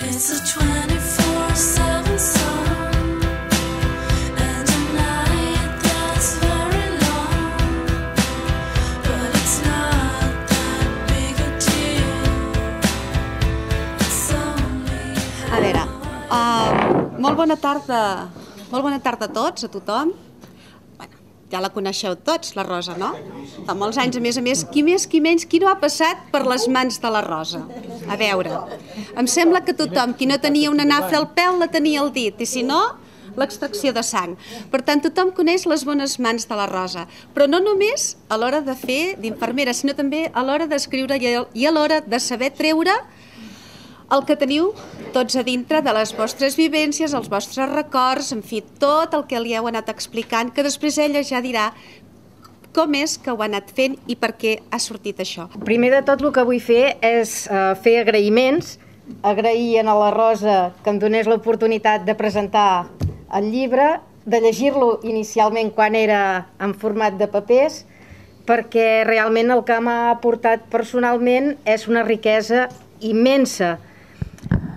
It's a 24/7 song, and a night that's very long, but it's not that big a deal. It's only A veure, molt bona tarda a tots, a tothom. Bueno, ja la coneixeu tots, la Rosa, no? Fa molts anys, a més, qui més, qui menys, qui no ha passat per les mans de la Rosa? A veure, em sembla que tothom, qui no tenia una nafra al peu, la tenia al dit, i si no, l'extracció de sang. Per tant, tothom coneix les bones mans de la Rosa, però no només a l'hora de fer d'infermera, sinó també a l'hora d'escriure i a l'hora de saber treure el que teniu tots a dintre de les vostres vivències, els vostres records, en fi, tot el que li heu anat explicant, que després ella ja dirà com és que ho ha anat fent i per què ha sortit això. Primer de tot el que vull fer és fer agraïments, agrair a la Rosa que em donés l'oportunitat de presentar el llibre, de llegir-lo inicialment quan era en format de papers, perquè realment el que m'ha aportat personalment és una riquesa immensa.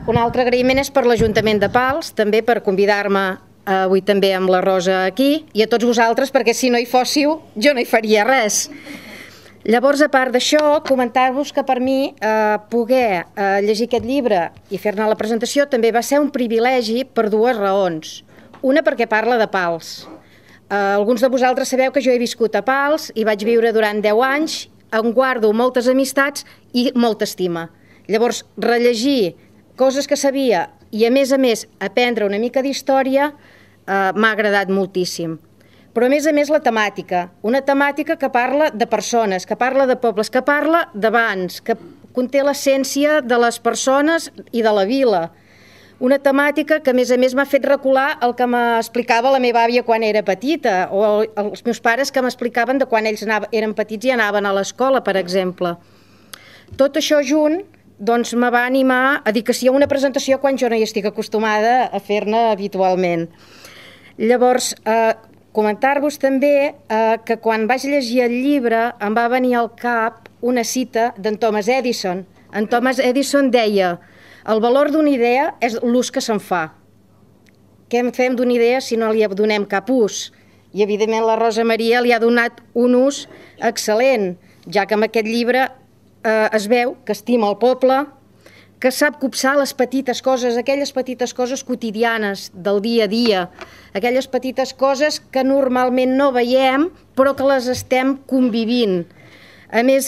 Un altre agraïment és per l'Ajuntament de Pals, també per convidar-me avui també amb la Rosa aquí, i a tots vosaltres, perquè si no hi fóssiu jo no hi faria res. Llavors, a part d'això, comentar-vos que per mi poder llegir aquest llibre i fer-ne la presentació també va ser un privilegi per dues raons. Una, perquè parla de Pals. Alguns de vosaltres sabeu que jo he viscut a Pals i vaig viure durant 10 anys, on guardo moltes amistats i molta estima. Llavors, rellegir coses que sabia i, a més, aprendre una mica d'història m'ha agradat moltíssim. Però, a més, la temàtica. Una temàtica que parla de persones, que parla de pobles, que parla d'abans, que conté l'essència de les persones i de la vila. Una temàtica que, a més, m'ha fet recular el que m'explicava la meva àvia quan era petita, o els meus pares que m'explicaven de quan ells eren petits i anaven a l'escola, per exemple. Tot això junt doncs me va animar a dir que sí a una presentació quan jo no hi estic acostumada a fer-ne habitualment. Llavors, comentar-vos també que quan vaig llegir el llibre em va venir al cap una cita d'en Thomas Edison. En Thomas Edison deia: el valor d'una idea és l'ús que se'n fa. Què en fem d'una idea si no li donem cap ús? I, evidentment, la Rosa Maria li ha donat un ús excel·lent, ja que amb aquest llibre es veu que estima el poble, que sap copsar les petites coses, aquelles petites coses quotidianes del dia a dia, aquelles petites coses que normalment no veiem però que les estem convivint. A més,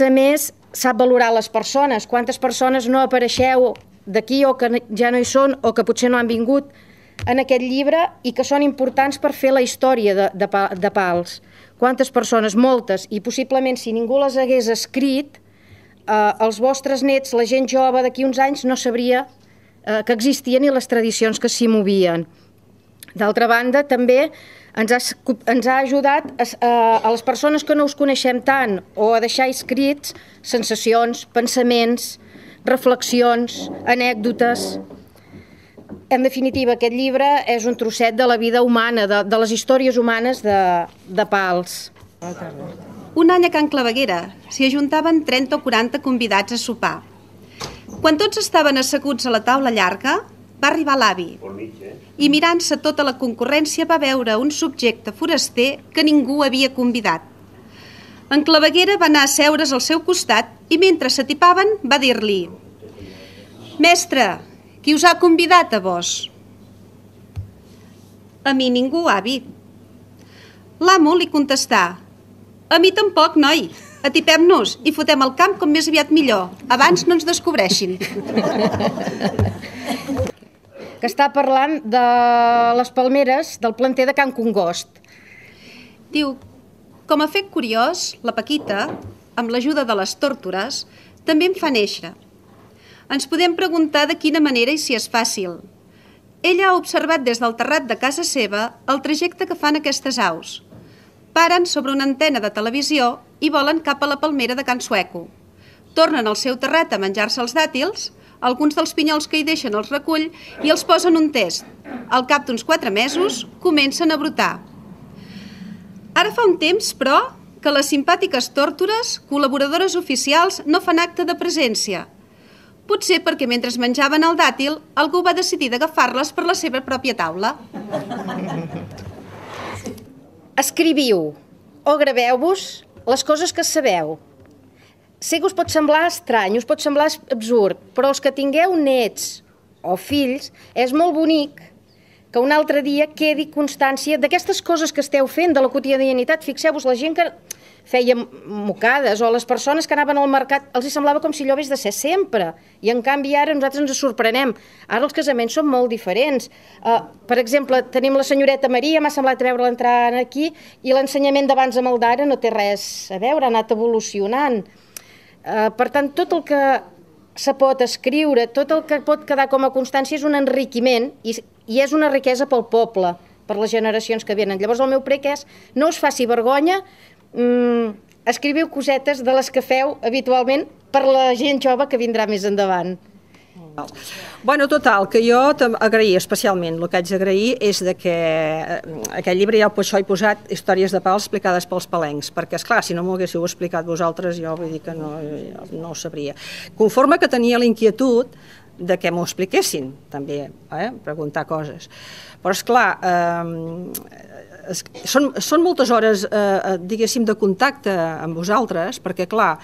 sap valorar les persones. Quantes persones no apareixeu d'aquí o que ja no hi són o que potser no han vingut en aquest llibre i que són importants per fer la història de Pals. Quantes persones? Moltes. I possiblement si ningú les hagués escrit, els vostres nets, la gent jove d'aquí uns anys no sabria que existien i les tradicions que s'hi movien. D'altra banda, també ens ha ajudat a les persones que no us coneixem tant o a deixar escrits sensacions, pensaments, reflexions, anècdotes. En definitiva, aquest llibre és un trosset de la vida humana, de les històries humanes de Pals. Un any a Can Claveguera s'hi ajuntaven 30 o 40 convidats a sopar. Quan tots estaven asseguts a la taula llarga, va arribar l'avi i, mirant-se tota la concurrència, va veure un subjecte foraster que ningú havia convidat. En Claveguera va anar a seure's al seu costat i, mentre s'atipaven, va dir-li: «Mestre, qui us ha convidat a vos?» «A mi ningú, avi». L'amo li contestà: «A mi tampoc, noi. Atipem-nos i fotem el camp com més aviat millor. Abans no ens descobreixin». Que està parlant de les palmeres del planter de Can Congost. Diu: «Com a fet curiós, la Paquita, amb l'ajuda de les tórtores, també em fa néixer. Ens podem preguntar de quina manera i si és fàcil. Ella ha observat des del terrat de casa seva el trajecte que fan aquestes aus. Paren sobre una antena de televisió i volen cap a la palmera de Can Sueco. Tornen al seu terrat a menjar-se els dàtils, alguns dels pinyols que hi deixen els recull i els posen un test. Al cap d'uns 4 mesos comencen a brotar. Ara fa un temps, però, que les simpàtiques tórtores, col·laboradores oficials, no fan acte de presència. Potser perquè mentre menjaven el dàtil, algú va decidir d'agafar-les per la seva pròpia taula. Escriviu o graveu-vos les coses que sabeu. Sé que us pot semblar estrany, us pot semblar absurd, però els que tingueu nets o fills, és molt bonic que un altre dia quedi constància d'aquestes coses que esteu fent, de la quotidianitat. Fixeu-vos, la gent que feia mocades o les persones que anaven al mercat els hi semblava com si allò hagués de ser sempre, i en canvi ara nosaltres ens sorprenem. Ara els casaments són molt diferents. Per exemple, tenim la senyoreta Maria, m'ha semblat veure-la entrar aquí, i l'ensenyament d'abans amb el d'ara no té res a veure, ha anat evolucionant. Per tant, tot el que se pot escriure, tot el que pot quedar com a constància és un enriquiment i és una riquesa pel poble, per les generacions que venen. Llavors el meu prec és no us faci vergonya, escriviu cosetes de les que feu habitualment per la gent jove que vindrà més endavant. Bueno, total, que jo agrair especialment, el que haig d'agrair és que aquest llibre ja per això he posat històries de pals explicades pels palencs, perquè esclar, si no m'ho haguéssiu explicat vosaltres jo vull dir que no ho sabria. Conforme que tenia la inquietud de que m'ho expliquessin, també, preguntar coses. Però esclar, són moltes hores, diguéssim, de contacte amb vosaltres, perquè, clar,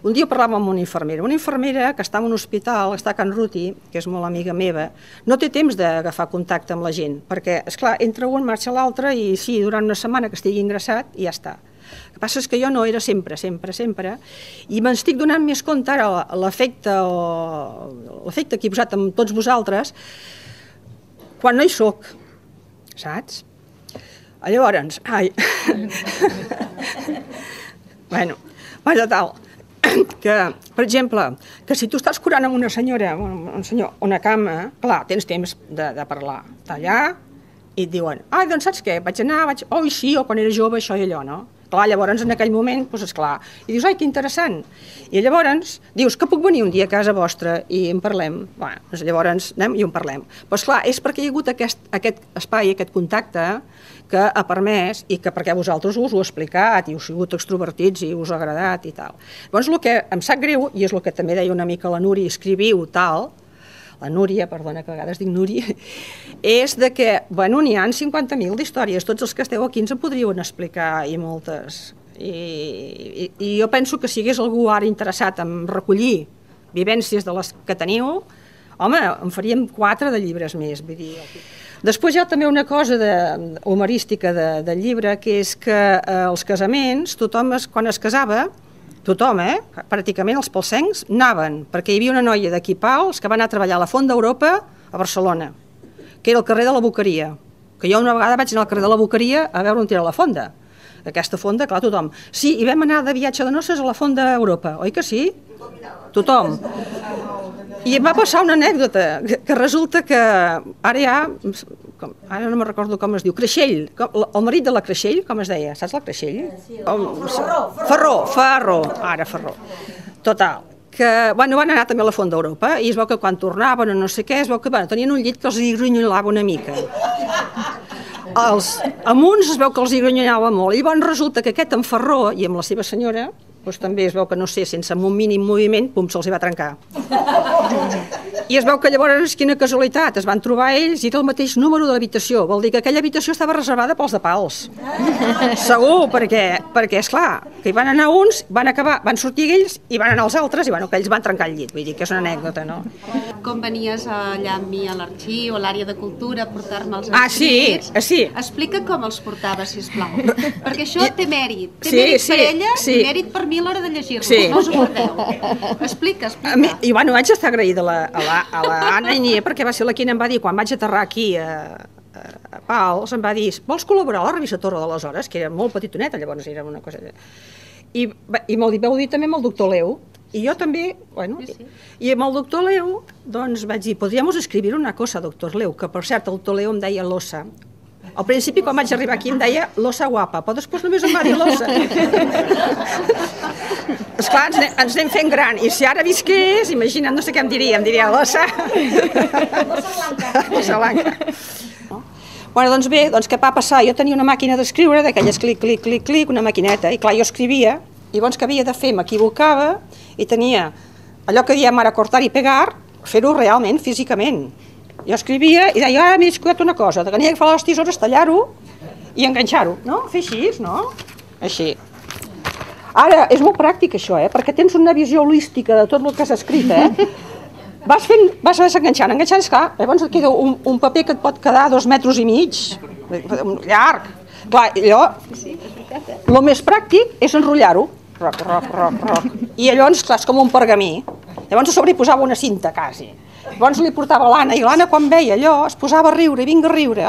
un dia parlàvem amb una infermera que està en un hospital, està a Can Ruti, que és molt amiga meva, no té temps d'agafar contacte amb la gent, perquè, esclar, entra un, marxa l'altre, i sí, durant una setmana que estigui ingressat, i ja està. El que passa és que jo no era sempre, i m'estic donant més compte ara l'efecte que he posat amb tots vosaltres quan no hi soc, saps? Llavors, bueno, total, que, per exemple, que si tu estàs curant amb una senyora, un senyor, una cama, clar, tens temps de parlar, tallar, i et diuen, doncs saps què, vaig anar, sí, o quan era jove, això i allò, no? Clar, llavors, en aquell moment, doncs, esclar, i dius, que interessant, i llavors dius, que puc venir un dia a casa vostra i en parlem? Bueno, doncs llavors anem i en parlem. Però, esclar, és perquè hi ha hagut aquest espai, aquest contacte, que ha permès, i que perquè vosaltres us ho he explicat, i us heu sigut extrovertits, i us ha agradat, i tal. Llavors, el que em sap greu, i és el que també deia una mica la Núria, escriviu tal, la Núria, perdona, que a vegades dic Núria, és de que, bueno, n'hi ha 50.000 d'històries, tots els que esteu aquí ens en podrien explicar, i moltes. I jo penso que si hi hagués algú ara interessat en recollir vivències de les que teniu, home, en faríem 4 de llibres més, vull dir. Després hi ha també una cosa humorística del llibre, que és que els casaments, tothom, quan es casava, tothom, pràcticament els palsencs, anaven, perquè hi havia una noia d'aquí Pals que va anar a treballar a la Font d'Europa a Barcelona, que era el carrer de la Boqueria, que jo una vegada vaig anar al carrer de la Boqueria a veure on era la fonda. Aquesta fonda, clar, tothom. Sí, i vam anar de viatge de noces a la Font d'Europa, oi que sí? Tothom. I em va passar una anècdota, que resulta que ara hi ha, ara no me'n recordo com es diu, Creixell, el marit de la Creixell, com es deia, saps la Creixell? Ferró, ara Ferró. Total, que van anar també a la Font d'Europa i es veu que quan tornaven o no sé què, es veu que tenien un llit que els hi grunyolava una mica. Amb uns es veu que els hi grunyolava molt, i llavors resulta que aquest en Ferró i amb la seva senyora, doncs també es veu que, no sé, sense un mínim moviment, pum, se'ls va trencar. I es veu que llavors, quina casualitat, es van trobar ells i era el mateix número de l'habitació. Vol dir que aquella habitació estava reservada pels de Pals. Segur, perquè esclar, que hi van anar uns, van sortir ells i van anar els altres i bueno, que ells van trencar el llit. Vull dir que és una anècdota, no? Com venies allà amb mi a l'arxiu, a l'àrea de cultura, a portar-me els escrits. Sí. Explica com els portava, sisplau. Perquè això té mèrit. Té mèrit per ella i mèrit per mi a l'hora de llegir-lo. No us ho guardeu. Explica. I bueno, vaig estar agraïda a l'Anna Inier, perquè va ser la que em va dir, quan vaig aterrar aquí a Pals, em va dir, vols col·laborar a la revista Torre de les Hores, que era molt petitoneta, llavors era una cosa... I vau dir també amb el doctor Leu, i jo també, bueno, i amb el doctor Leu, doncs vaig dir, podríamos escribir una cosa, doctor Leu, que per cert el doctor Leu em deia l'ossa. Al principi, quan vaig arribar aquí, em deia l'ossa guapa, però després només em va dir l'ossa. Esclar, ens anem fent gran, i si ara visqués, imagina't, no sé què em diria l'ossa. L'ossa blanca. Bueno, doncs bé, què va passar? Jo tenia una màquina d'escriure, d'aquelles clic, una maquineta, i clar, jo escrivia, i llavors que havia de fer, m'equivocava, i tenia allò que diem ara cortar i pegar, fer-ho realment, físicament. Jo escrivia i deia, ara m'he descuidat una cosa, tenia que agafar les tisores, tallar-ho i enganxar-ho, no? Fer així, no? Així. Ara, és molt pràctic això, perquè tens una visió holística de tot el que has escrit, Vas enganxant, esclar, llavors et queda un paper que et pot quedar 2,5 metres, llarg. Clar, allò, el més pràctic és enrotllar-ho, i llavors, clar, és com un pergamí. Llavors a sobre hi posava una cinta, quasi. Llavors li portava l'Anna, i l'Anna quan veia allò es posava a riure, vinga a riure,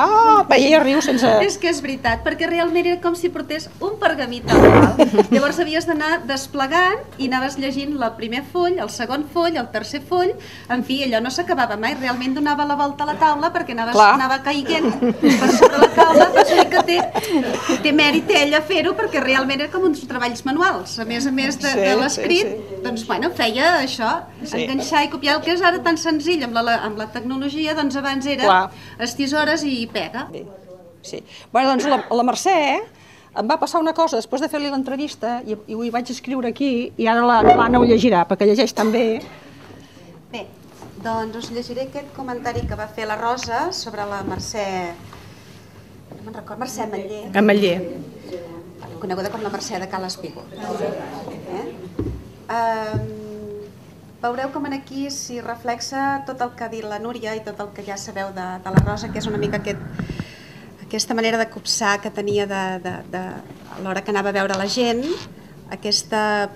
veia riu sense... És que és veritat, perquè realment era com si portés un pergamí tal qual. Llavors havies d'anar desplegant i anaves llegint el primer full, el segon full, el tercer full, en fi, allò no s'acabava mai, realment donava la volta a la taula perquè anava caiguent per sobre la taula, per això que té mèrit ella fer-ho, perquè realment era com uns treballs manuals, a més de l'escrit, doncs bueno, feia això, enganxar i copiar, el que és ara tan senzill amb la tecnologia, doncs abans era les tisores i pega. Sí. Bueno, doncs la Mercè em va passar una cosa, després de fer-li l'entrevista, i ho hi vaig escriure aquí, i ara l'Anna ho llegirà, perquè llegeix tan bé. Bé, doncs us llegiré aquest comentari que va fer la Rosa sobre la Mercè... No me'n recordo, Mercè Ametller. Ametller. Coneguda com la Mercè de Cal Espígol. Veureu com aquí s'hi reflexa tot el que ha dit la Núria i tot el que ja sabeu de la Rosa, que és una mica aquesta manera de copsar que tenia a l'hora que anava a veure la gent, aquesta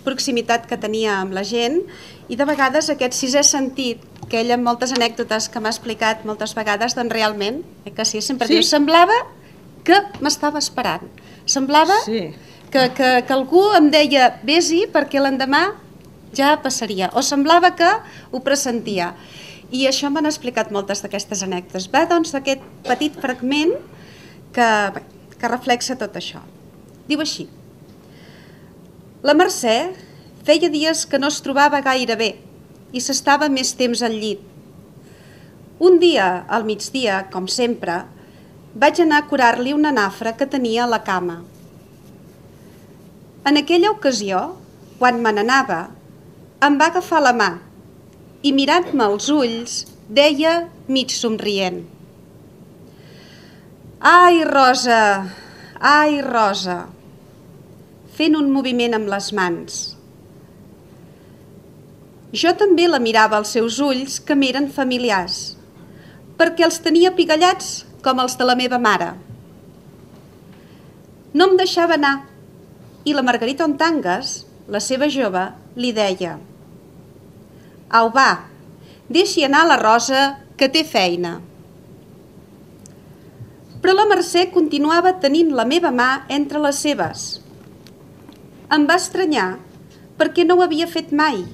proximitat que tenia amb la gent i de vegades aquest sisè sentit que ella en moltes anècdotes que m'ha explicat moltes vegades, doncs realment, que sí, sempre diu, semblava que m'estava esperant, semblava que algú em deia vés-hi perquè l'endemà ja passaria, o semblava que ho pressentia. I això m'han explicat moltes d'aquestes anècdotes. Va, doncs, d'aquest petit fragment que reflexa tot això. Diu així: la Mercè feia dies que no es trobava gaire bé i s'estava més temps al llit. Un dia, al migdia, com sempre, vaig anar a curar-li una nafra que tenia a la cama. En aquella ocasió, quan me n'anava, em va agafar la mà i mirant-me als ulls deia mig somrient: ai, Rosa, fent un moviment amb les mans. Jo també la mirava als seus ulls que m'eren familiars, perquè els tenia pigallats com els de la meva mare. No em deixava anar i la Margarita Ontangues, la seva jove, li deia: au, va, deixi anar la Rosa, que té feina. Però la Mercè continuava tenint la meva mà entre les seves. Em va estranyar, perquè no ho havia fet mai.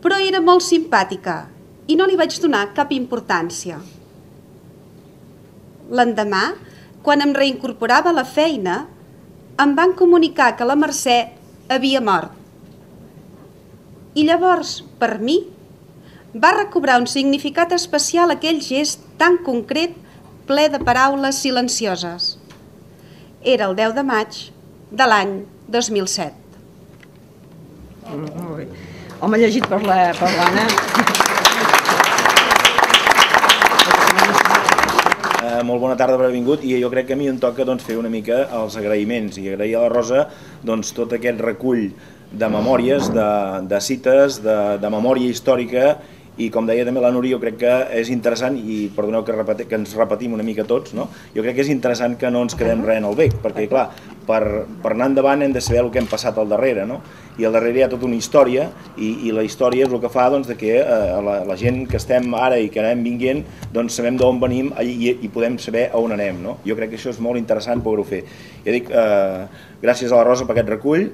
Però era molt simpàtica i no li vaig donar cap importància. L'endemà, quan em reincorporava a la feina, em van comunicar que la Mercè havia mort. I llavors, per mi, va recobrar un significat especial aquell gest tan concret, ple de paraules silencioses. Era el 10 de maig de l'any 2007. Home, llegit per l'Anna. Molt bona tarda per haver vingut, i jo crec que a mi em toca fer una mica els agraïments i agrair a la Rosa tot aquest recull de memòries, de cites, de memòria històrica, i com deia també la Núria, jo crec que és interessant, i perdoneu que ens repetim una mica tots, no? Jo crec que és interessant que no ens quedem res en el bec, perquè clar, per anar endavant hem de saber el que hem passat al darrere, no? I al darrere hi ha tota una història, i la història és el que fa que la gent que estem ara i que anem vinguent, doncs sabem d'on venim i podem saber a on anem, no? Jo crec que això és molt interessant poder-ho fer. Ja dic, gràcies a la Rosa per aquest recull.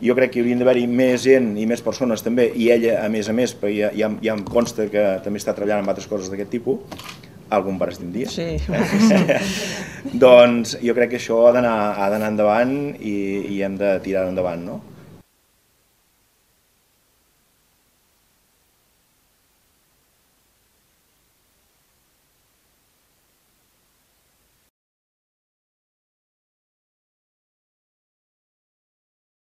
Jo crec que hi haurien d'haver-hi més gent i més persones també, i ella a més, perquè ja em consta que també està treballant en altres coses d'aquest tipus, algun per estim dia. Sí. Doncs jo crec que això ha d'anar endavant i hem de tirar endavant, no?